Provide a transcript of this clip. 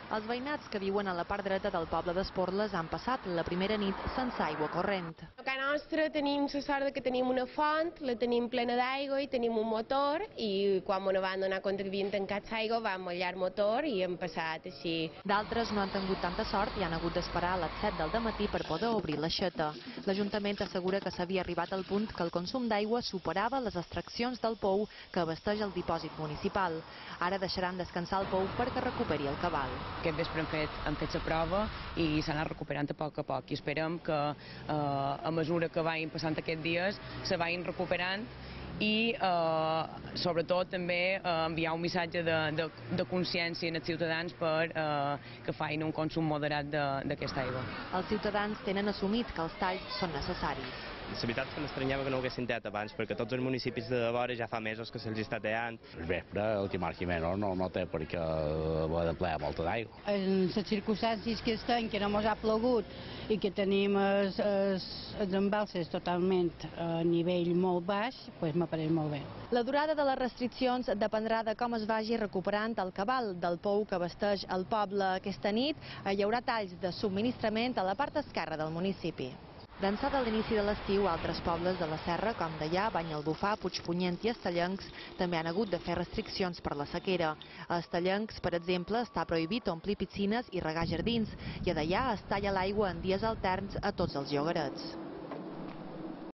Els veïnats que viuen a la part dreta del poble d'Esporles han passat la primera nit sense aigua corrent. A casa nostra tenim la sort que tenim una font, la tenim plena d'aigua i tenim un motor, i quan ens van donar compte que havien tancat l'aigua vam mullar el motor i hem passat així. D'altres no han tingut tanta sort i han hagut d'esperar a les 7 del dematí per poder obrir l'aixeta. L'Ajuntament assegura que s'havia arribat al punt que el consum d'aigua superava les extraccions del pou que abasteix el dipòsit municipal. Ara deixaran descansar el pou perquè recuperi el cabal. Aquest vespre han fet la prova i s'ha anat recuperant a poc i esperem que a mesura que vagin passant aquests dies se vagin recuperant i sobretot també enviar un missatge de consciència als ciutadans per que facin un consum moderat d'aquesta aigua. Els ciutadans tenen assumit que els talls són necessaris. La veritat és que m'estranyava que no ho haguessin tallat abans, perquè tots els municipis de vora ja fa mesos que se'ls està tallant. El vespre, el que marqui menys no té per què haver de plegar molta d'aigua. En les circumstàncies que estem, que no ens ha plogut i que tenim els embalses totalment a nivell molt baix, doncs m'apareix molt bé. La durada de les restriccions dependrà de com es vagi recuperant el cabal del pou que abasteix el poble. Aquesta nit hi haurà talls de subministrament a la part esquerra del municipi. D'ençà de l'inici de l'estiu, altres pobles de la serra, com Deià, Banyalbufar, Puigpunyent i Estellencs, també han hagut de fer restriccions per la sequera. A Estellencs, per exemple, està prohibit omplir piscines i regar jardins, i a Deià es talla l'aigua en dies alterns a tots els llogarets.